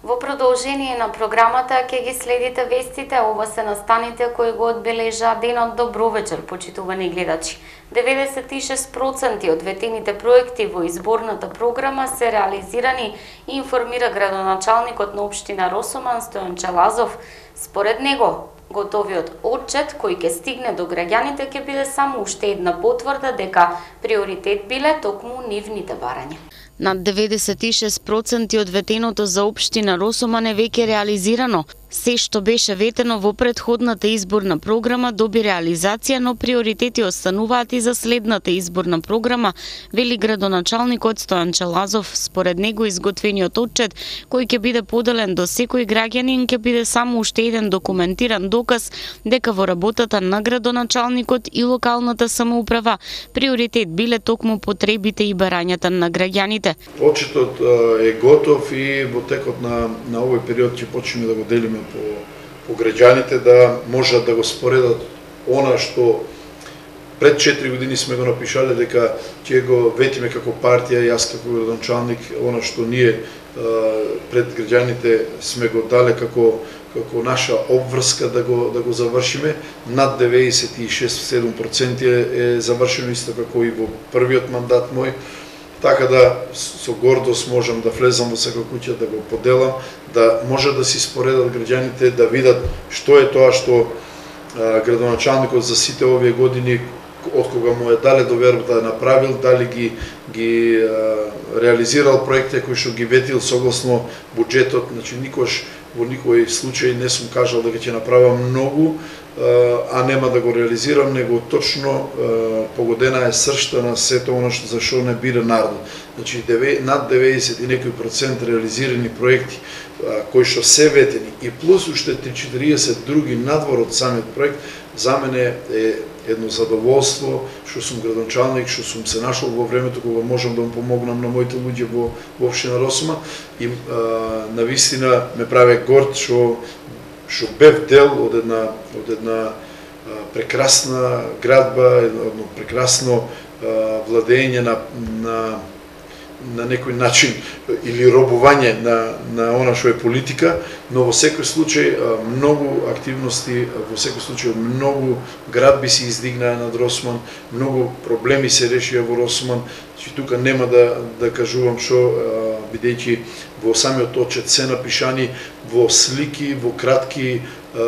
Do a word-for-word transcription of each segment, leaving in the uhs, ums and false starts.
Во продолжение на програмата ќе ги следите вестите, ова се настаните кои го одбележаа денот. Добро вечер, почитувани гледачи. деветдесет и шест проценти од ветените проекти во изборната програма се реализирани, информира градоначалникот на општина Росоман Стојан Челазов. Според него, готовиот отчет кој ќе стигне до граѓаните ќе биде само уште една потврда дека приоритет биле токму нивните барања. Над деветдесет и шест проценти од ветеното за општина Росоман е веќе реализирано. Се што беше ветено во претходната изборна програма доби реализација, но приоритети остануваат и за следната изборна програма, вели градоначалникот Стојан Челазов. Според него изготвениот отчет, кој ќе биде поделен до секој граѓанин, ќе биде само уште еден документиран доказ дека во работата на градоначалникот и локалната самоуправа приоритет биле токму потребите и барањата на граѓаните. Отчетот е готов и во текот на, на овој период ќе почнеме да го делиме по, по граѓаните, да можат да го споредат она што пред четири години сме го напишале дека ќе го ветиме како партија, јас како градоначалник, она што ние пред граѓаните сме го дале како како наша обврска да го да го завршиме. Над деветдесет и шест до седум проценти е завршено, исто како и во првиот мандат мој. Така да со гордост можам да влезам во секоја куќа, да го поделам, да може да си споредат граѓаните, да видат што е тоа што а, градоначалникот за сите овие години, од кога му е дале довербата да направил, дали ги, ги а, реализирал проекти кои што ги ветил согласно буџетот. Значи, никош во никој случај не сум кажал дека ќе направам многу, а нема да го реализирам, него точно погодена е сршта на сето оно што за што не бира народот. Значи над деветдесет и некој процент реализирани проекти кои што се ветени и плюс уште три до четириесет други надвор од самиот проект, за мене е едно задоволство што сум градоначалник, што сум се нашол во времето кога можам да му помогнам на моите луѓе во во општина Росоман и а, навистина ме прави горд што што бев дел од една од една а, прекрасна градба, едно прекрасно а, владење на на на некој начин или робување на на она што е политика, но во секој случај многу активности, во секој случај многу градби се издигнаа над Росоман, многу проблеми се решија во Росоман. Значи тука нема да да кажувам што, бидејќи во самиот отчет се напишани во слики, во кратки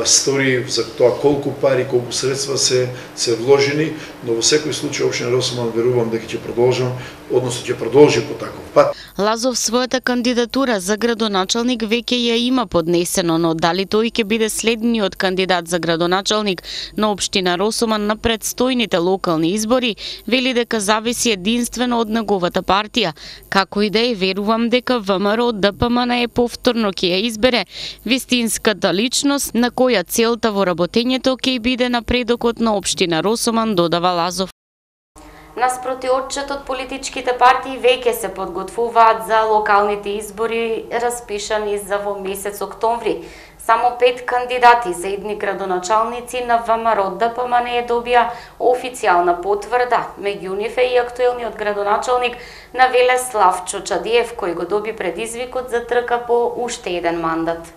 стори за тоа колку пари, колку средства се се вложени, но во секој случај општина Росоман верувам дека ќе продолжам, односно ќе продолжи по таков пат. Лазов својата кандидатура за градоначалник веќе ја има поднесено, но дали тој ќе биде следниот кандидат за градоначалник на општина Росоман на предстојните локални избори, вели дека зависи единствено од неговата партија. Како и да е, верувам дека ВМРО ДПМН е повторно ќе ја избере вистинската личност на која целта во работењето ќе биде напредокот на општина Росоман, додава Лазов. Наспроти отчетот, политичките партии веќе се подготвуваат за локалните избори распишани за во месец октомври. Само пет кандидати за идни градоначалници на ВМРО ДПМН добија официјална потврда. Меѓу нив е и актуелниот градоначалник на Велес Славчо Чадиев, кој го доби предизвикот за трка по уште еден мандат.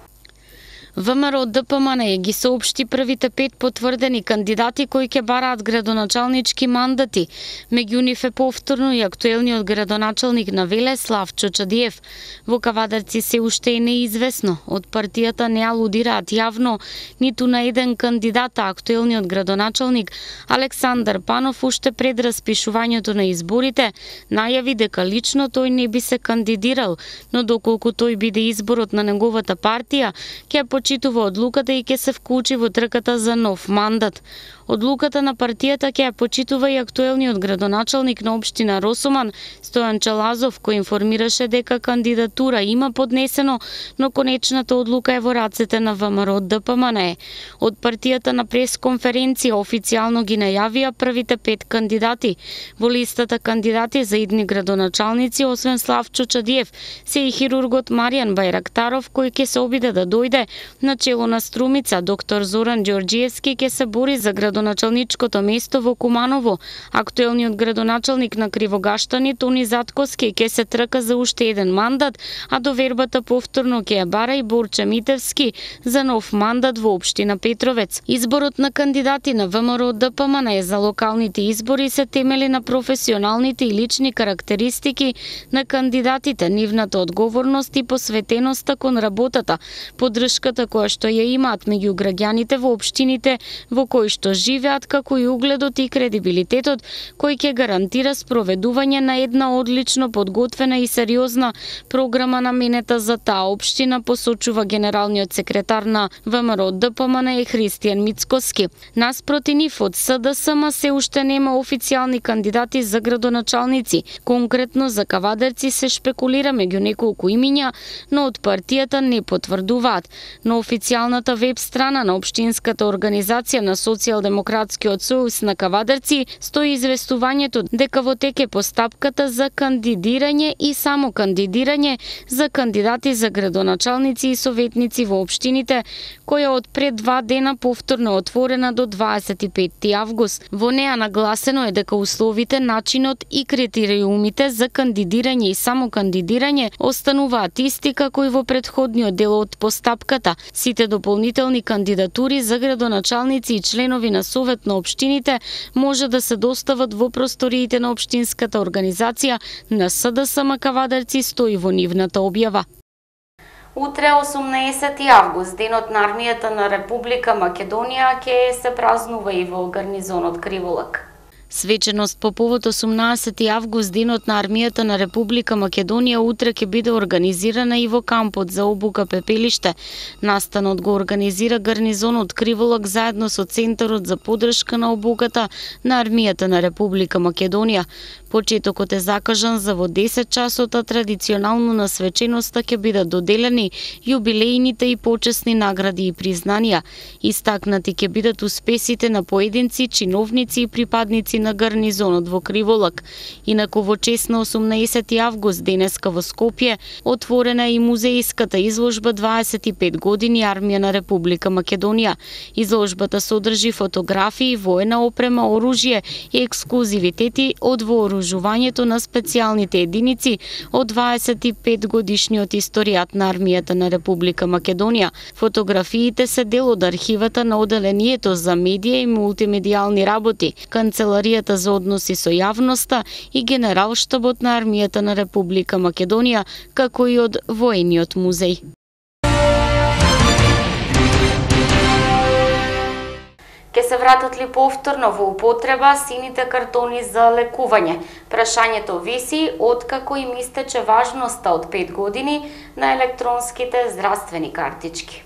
ВМРО ДПМН ги соопшти првите пет потврдени кандидати кои ќе бараат градоначалнички мандати. Меѓу нив е повторно и актуелниот градоначалник на Велес Славчо Чадиев. Во Кавадарци се уште е неизвестно. Од партијата не алудираат јавно ниту на еден кандидат, а актуелниот градоначалник Александар Панов уште пред распишувањето на изборите најави дека лично тој не би се кандидирал, но доколку тој биде изборот на неговата партија, ќе почитува одлуката и ќе се вклучи во трката за нов мандат. Одлуката на партијата ќе ја почитува и актуелниот градоначалник на општина Росоман Стојан Челазов, кој информираше дека кандидатура има поднесено, но конечната одлука е во рацете на ВМРО ДПМН. Од партијата на пресконференција официјално ги најавија првите пет кандидати. Во листата кандидати за идни градоначалници, освен Славчо Чадиев, се и хирургот Маријан Бајрактаров, кој ќе се обиде да дојде Начело на Струмица, доктор Зоран Ѓорѓиевски ќе се бори за градоначалничкото место во Куманово. Актуелниот градоначалник на Кривогаштани, Тони Затковски, ќе се трка за уште еден мандат, а довербата повторно ќе ја бара и Борче Митевски за нов мандат во општина Петровец. Изборот на кандидати на ВМРО Д П М Н за локалните избори се темели на професионалните и лични карактеристики на кандидатите, нивната одговорност и посветеноста кон работата, поддршката која што ја имаат меѓу граѓаните во општините во кои што живеат, како и угледот и кредибилитетот кој ќе гарантира спроведување на една одлично подготвена и сериозна програма наменета за таа општина, посочува генералниот секретар на ВМРО Д П М Н Христијан Мицкоски. Наспроти нив од С Д С М се уште нема официјални кандидати за градоначалници. Конкретно за Кавадерци се шпекулира меѓу неколку имиња, но од партијата не потврдуваат. На официјалната веб страна на општинската организација на Социјалдемократскиот сојуз на Кавадерци стои известувањето дека во тек е постапката за кандидирање и само кандидирање за кандидати за градоначалници и советници во општините, која од пред два дена повторно отворена до дваесет и петти август. Во неа нагласено е дека условите, начинот и критериумите за кандидирање и само кандидирање остануваат исти како и во претходниот дел од постапката. Сите дополнителни кандидатури за градоначалници и членови на совет на општините може да се достават во просториите на општинската организација на С Д С М Кавадерци, стои во нивната објава. Утре, осумнаесети август, денот на армијата на Република Македонија, ќе се празнува и во гарнизонот Криволак. Свеченост по повод осумнаесети август, денот на армијата на Република Македонија, утре ќе биде организирана и во кампот за обука Пепелиште. Настанот го организира гарнизонот Криволак заедно со Центарот за поддршка на обуката на армијата на Република Македонија. Почетокот е закажан за во десет часот, а традиционално на свеченоста ќе бидат доделени јубилејните и почесни награди и признанија. Истакнати ќе бидат успесите на поединци, чиновници и припадници на гарнизонот во Криволак. Инаку во чест на осумнаесети август, денеска во Скопје, отворена е и музеиската изложба дваесет и пет години армија на Република Македонија. Изложбата содржи фотографии, воена опрема, оружје и ексклузивитети од вооружувањето на специјалните единици од дваесет и пет годишниот историјат на армијата на Република Македонија. Фотографиите се дел од архивата на оделението за медија и мултимедијални работи, Канцеларијата за односи со јавноста и Генералштабот на армијата на Република Македонија, како и од воениот музеј. Ке се вратат ли повторно во употреба сините картони за лекување? Прашањето виси откако им истече важноста од пет години на електронските здравствени картички.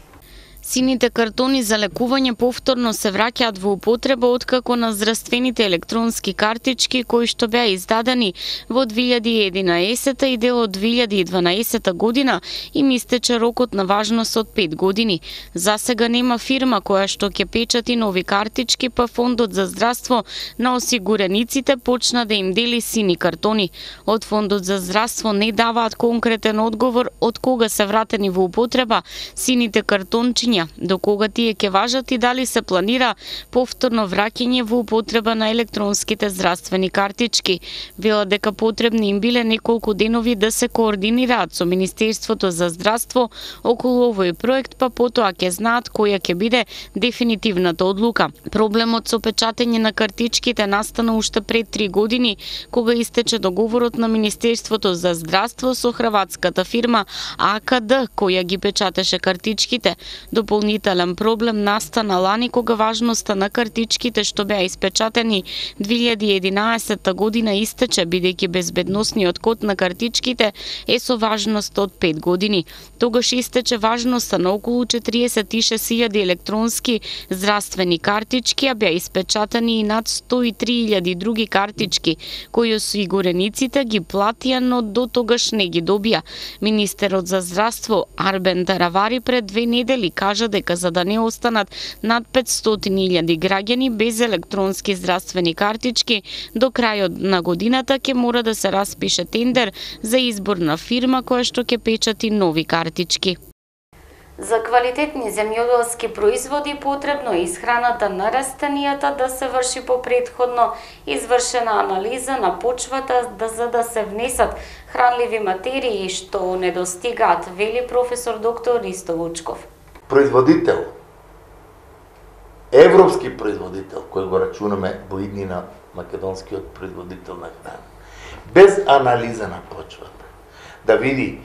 Сините картони за лекување повторно се враќаат во употреба откако на здравствените електронски картички кои што беа издадени во две илјади и единаесета и дел од две илјади и дванаесета година им истече рокот на важност од пет години. За сега нема фирма која што ќе печати нови картички, па Фондот за здравство на осигурениците почна да им дели сини картони. Од Фондот за здравство не даваат конкретен одговор од кога се вратени во употреба сините картончиња, до кога тие ќе важат и дали се планира повторно враќање во употреба на електронските здравствени картички. Велат дека потребни им биле неколку денови да се координираат со Министерството за здравство околу овој проект, па потоа ќе знаат која ќе биде дефинитивната одлука. Проблемот со печатење на картичките настана уште пред три години, кога истече договорот на Министерството за здравство со хрватската фирма А К Д, која ги печатеше картичките. Дополнителен проблем настана лани кога важноста на картичките што беа испечатени две илјади и единаесета година истече, бидејќи безбедносниот код на картичките е со важност од пет години. Тогаш истече важноста на околу четириесет и шест илјади електронски здравствени картички, а беа испечатани и над сто и три илјади други картички, кои осигурениците ги платија, но до тогаш не ги добија. Министерот за здравство Арбен Таравари пред две недели кажа дека за да не останат над петстотини илјади граѓани без електронски здравствени картички, до крајот на годината ќе мора да се распише тендер за избор на фирма која што ќе печати нови картички. За квалитетни земјоделски производи потребно е исхраната на растенијата да се врши по претходно извршена анализа на почвата да за да се внесат хранливи материи што недостигаат, вели професор доктор Ристо Вучков. Производител, европски производител, кој го рачунаме во иднина македонскиот производител на храна, без анализа на почвата, да види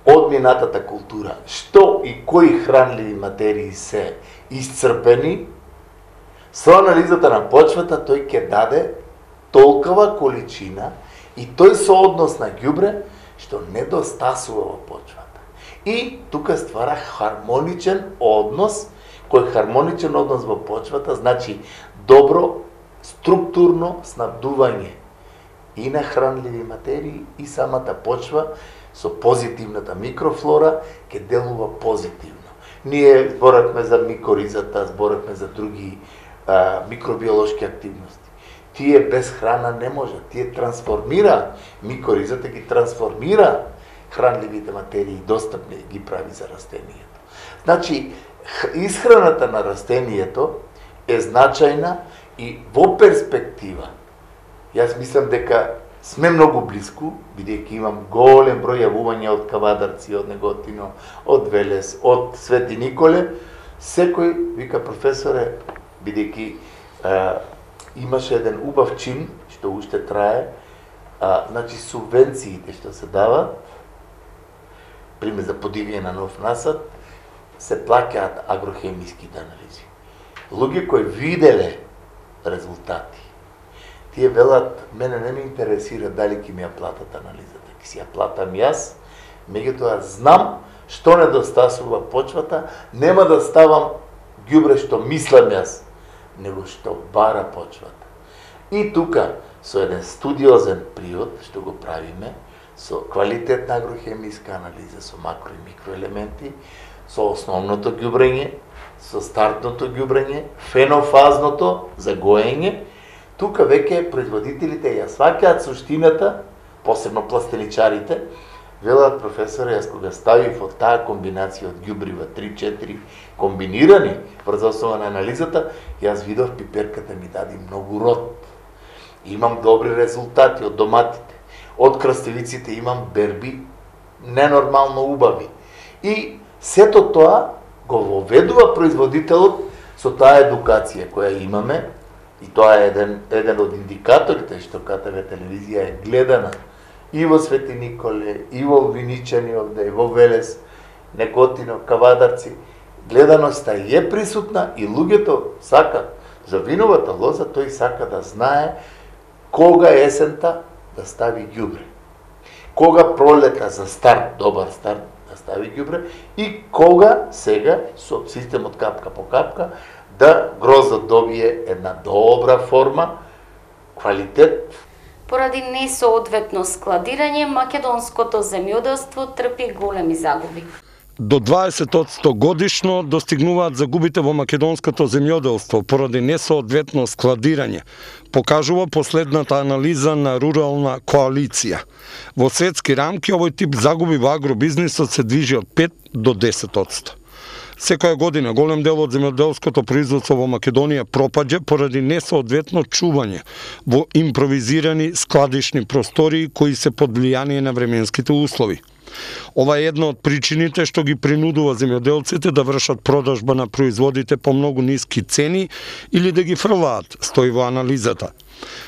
од минатата култура што и кои хранливи материи се исцрпени, со анализата на почвата тој ќе даде толкова количина и тој сооднос на ѓубре што недостасува во почвата. И тука ствара хармоничен однос, кој хармоничен однос во почвата значи добро структурно снабдување и на хранливи материи и самата почва со позитивната микрофлора ќе делува позитивно. Ние зборевме за микоризата, зборевме за други а, микробиолошки активности. Тие без храна не може, тие трансформира, микоризата ги трансформира хранливите материи, достапни ги прави за растението. Значи, исхраната на растението е значајна и во перспектива. Јас мислам дека сме многу близко, бидејќи имам голем број јавувања од Кавадарци, од Неготино, од Велес, од Свети Николе. Секој вика професоре, бидејќи имаше еден убав чин што уште трае, а, значи субвенциите што се дават, пример за подивјање на нов насад, се плаќаат агрохемиските анализи. Луѓе кои виделе резултати, тие велат, мене не ме интересира дали ќе ми ја платат анализата, ќе си ја платам јас, меѓутоа знам што недостасува почвата, нема да ставам ѓубре што мислам јас, него што бара почвата. И тука, со еден студиозен приод, што го правиме, со квалитетна агрохемиска анализа, со макро и микроелементи, со основното ѓубрење, со стартното ѓубрење, фенофазното за гоење, тука веќе производителите ја сваќаат суштината, посебно пластеничарите, велат професоре, јас кога ставив од таа комбинација од ѓубрива три-четири комбинирани врз основа на анализата, јас видов пиперката ми даде многу род. Имам добри резултати од доматите, од краставиците имам берби ненормално убави. И сето тоа го воведува производителот со таа едукација која имаме, и тоа е еден, еден од индикаторите што КТВ телевизија е гледана и во Свети Николе, и во Виничани овде, и во Велес, Неготино, Кавадарци. Гледаноста е присутна и луѓето сакат за виновата лоза, тој сака да знае кога есента да стави ѓубре, кога пролета за старт, добар старт, да стави ѓубре и кога сега со системот капка по капка да гроздот добие една добра форма, квалитет. Поради несоодветно складирање, македонското земјоделство трпи големи загуби. До дваесет одсто годишно достигнуваат загубите во македонското земјоделство поради несоодветно складирање, покажува последната анализа на Рурална коалиција. Во светски рамки овој тип загуби во агробизнисот се движи од пет до десет одсто. Секоја година голем дел од земјоделското производство во Македонија пропаѓа поради несоодветно чување во импровизирани складишни простории кои се под влијание на временските услови. Ова е една од причините што ги принудува земјоделците да вршат продажба на производите по многу ниски цени или да ги фрлаат, стои во анализата.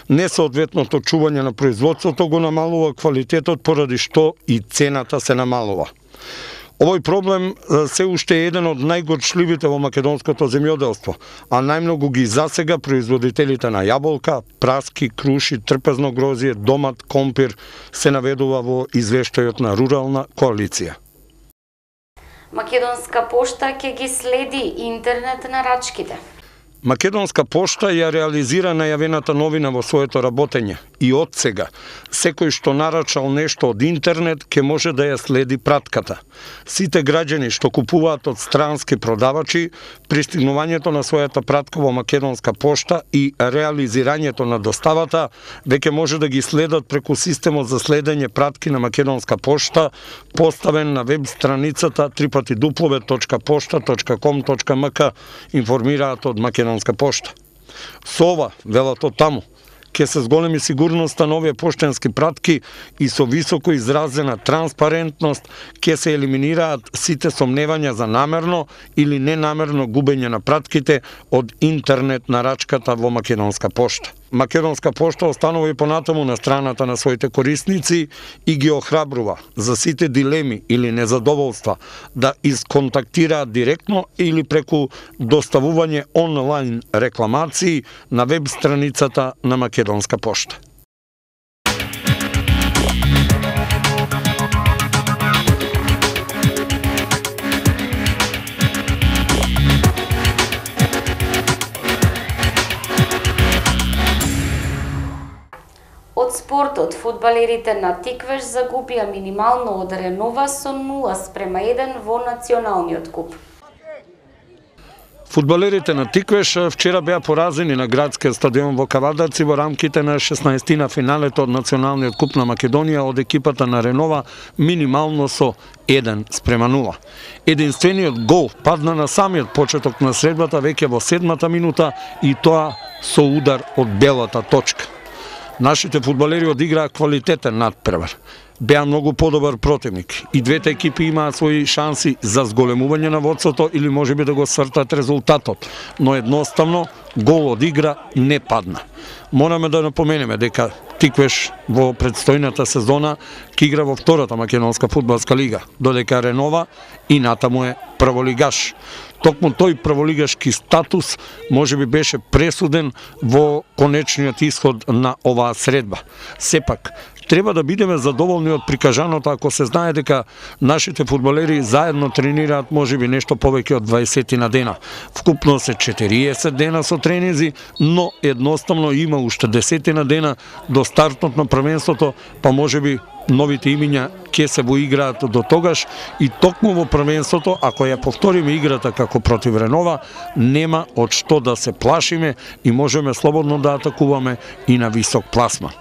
Несоодветното чување на производството го намалува квалитетот поради што и цената се намалува. Овој проблем се уште е еден од најгорчливите во македонското земјоделство, а најмногу ги засега производителите на јаболка, праски, круши, трпезно грозје, домат, компир, се наведува во извештајот на Рурална коалиција. Македонска пошта ќе ги следи интернет нарачките. Македонска пошта ја реализира најавената новина во своето работење. и од сега, секој што нарачал нешто од интернет, ќе може да ја следи пратката. Сите граѓани што купуваат од странски продавачи, пристигнувањето на својата пратка во Македонска пошта и реализирањето на доставата веќе може да ги следат преку системот за следење пратки на Македонска пошта, поставен на веб страницата три пати дуплове точка пошта точка ком точка ем ка, информираат од Македонска пошта. Со ова, велат од таму, ќе се зголеми сигурноста на овие поштенски пратки и со високо изразена транспарентност ќе се елиминираат сите сомневања за намерно или ненамерно губење на пратките од интернет нарачката во Македонска пошта. Македонска пошта останува и понатаму на страната на своите корисници и ги охрабрува за сите дилеми или незадоволства да исконтактираат директно или преку доставување онлайн рекламации на веб страницата на Македонска пошта. Од спортот, фудбалерите на Тиквеш загубија минимално од Ренова со нула спрема еден во националниот куп. Фудбалерите на Тиквеш вчера беа поразени на градскиот стадион во Кавадарци во рамките на шеснаесеттина финалето од националниот куп на Македонија од екипата на Ренова минимално со еден спрема нула. Единствениот гол падна на самиот почеток на средбата веќе во седмата минута и тоа со удар од белата точка. Нашите фудбалери одиграа квалитетен надпревар. Беа многу подобар противник и двете екипи имаат своји шанси за зголемување на водството или можеби да го свртат резултатот, но едноставно гол од игра не падна. Мораме да напоменеме дека Тиквеш во предстојната сезона ќе игра во втората македонска фудбалска лига, додека Ренова и натаму е прволигаш. Токму тој прволигашки статус можеби беше пресуден во конечниот исход на оваа средба. Сепак, треба да бидеме задоволни од прикажаното ако се знае дека нашите фудбалери заедно тренираат можеби нешто повеќе од дваесет на дена. Вкупно се четириесет дена со тренинзи, но едноставно има уште десет на дена до стартот на првенството, па можеби новите имиња ќе се во играат до тогаш и токму во првенството, ако ја повториме играта како против Ренова, нема од што да се плашиме и можеме слободно да атакуваме и на висок пласман.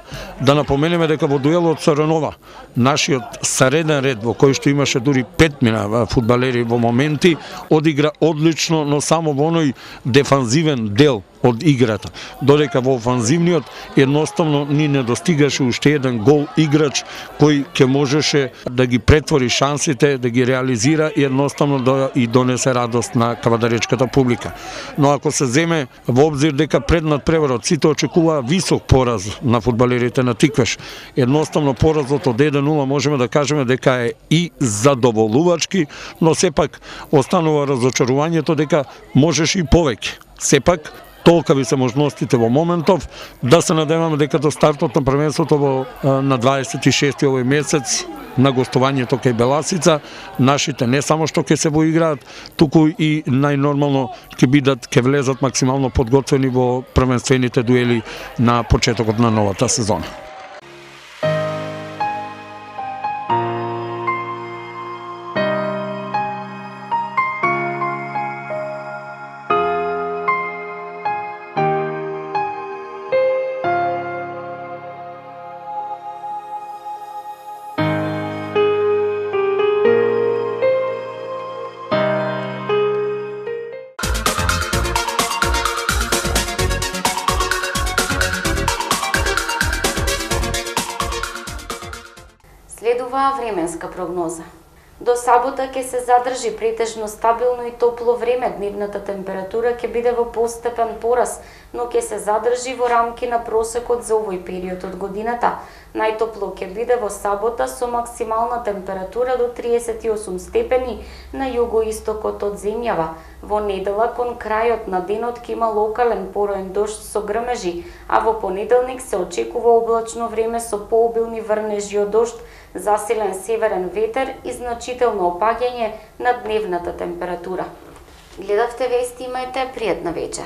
Да напоменеме дека во дуелот со Ренова, нашиот среден ред во кој што имаше дури петмина фудбалери во моменти, одигра одлично, но само во оној дефанзивен дел од играта, додека во офанзивниот едноставно ни не достигаше уште еден гол играч кој ќе можеше да ги претвори шансите, да ги реализира и едноставно да и донесе радост на кавадаречката публика. Но ако се земе во обзир дека пред надпреварот сите очекуваа висок пораз на фудбалерите на Тиквеш, едноставно поразот од еден нула можеме да кажеме дека е и задоволувачки, но сепак останува разочарувањето дека можеше и повеќе. Сепак, толкави се можностите во моментов, да се надеваме дека до стартот на првенството во на дваесет и шести овој месец на гостувањето кај Беласица, нашите не само што ќе се воиграат, туку и најнормално ќе бидат, ќе влезат максимално подготвени во првенствените дуели на почетокот на новата сезона. Следува временска прогноза. До сабота ќе се задржи претежно стабилно и топло време, дневната температура ќе биде во постепен пораз, но ќе се задржи во рамки на просекот за овој период од годината. Најтопло ќе биде во сабота со максимална температура до триесет и осум степени на југоистокот од земјава. Во недела кон крајот на денот ќе има локален пороен дожд со грмежи, а во понеделник се очекува облачно време со пообилни врнежи од дожд, засилен северен ветер и значително опаѓање на дневната температура. Гледавте вести, имајте пријатна вечер.